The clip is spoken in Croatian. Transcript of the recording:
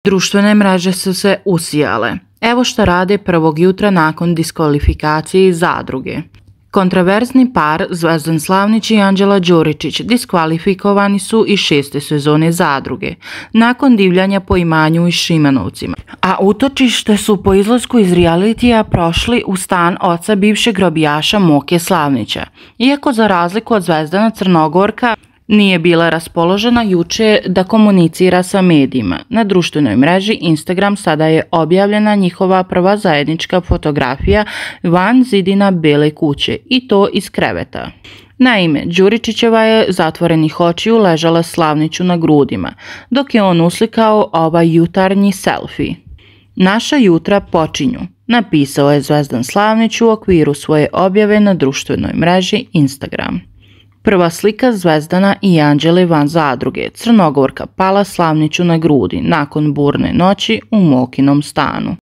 Društvene mreže su se usijale. Evo šta rade prvog jutra nakon diskvalifikacije iz Zadruge. Kontraverzni par Zvezdan Slavnić i Anđela Đuričić diskvalifikovani su iz 6. sezone Zadruge, nakon divljanja po imanju i Šimanovcima. A utočište su po izlasku iz realitija prošli u stan oca bivšeg robijaša Moke Slavnića. Iako za razliku od Zvezdana, Crnogorka nije bila raspoložena juče da komunicira sa medijima. Na društvenoj mreži Instagram sada je objavljena njihova prva zajednička fotografija van zidina Bele kuće, i to iz kreveta. Naime, Đuričićeva je zatvorenih očiju ležala Slavniću na grudima, dok je on uslikao ovaj jutarnji selfie. Naša jutra počinju, napisao je Zvezdan Slavnić u okviru svoje objave na društvenoj mreži Instagram. Prva slika Zvezdana i Anđele van Zadruge. Crnogorka pala Slavniću na grudi nakon burne noći u Mokinom stanu.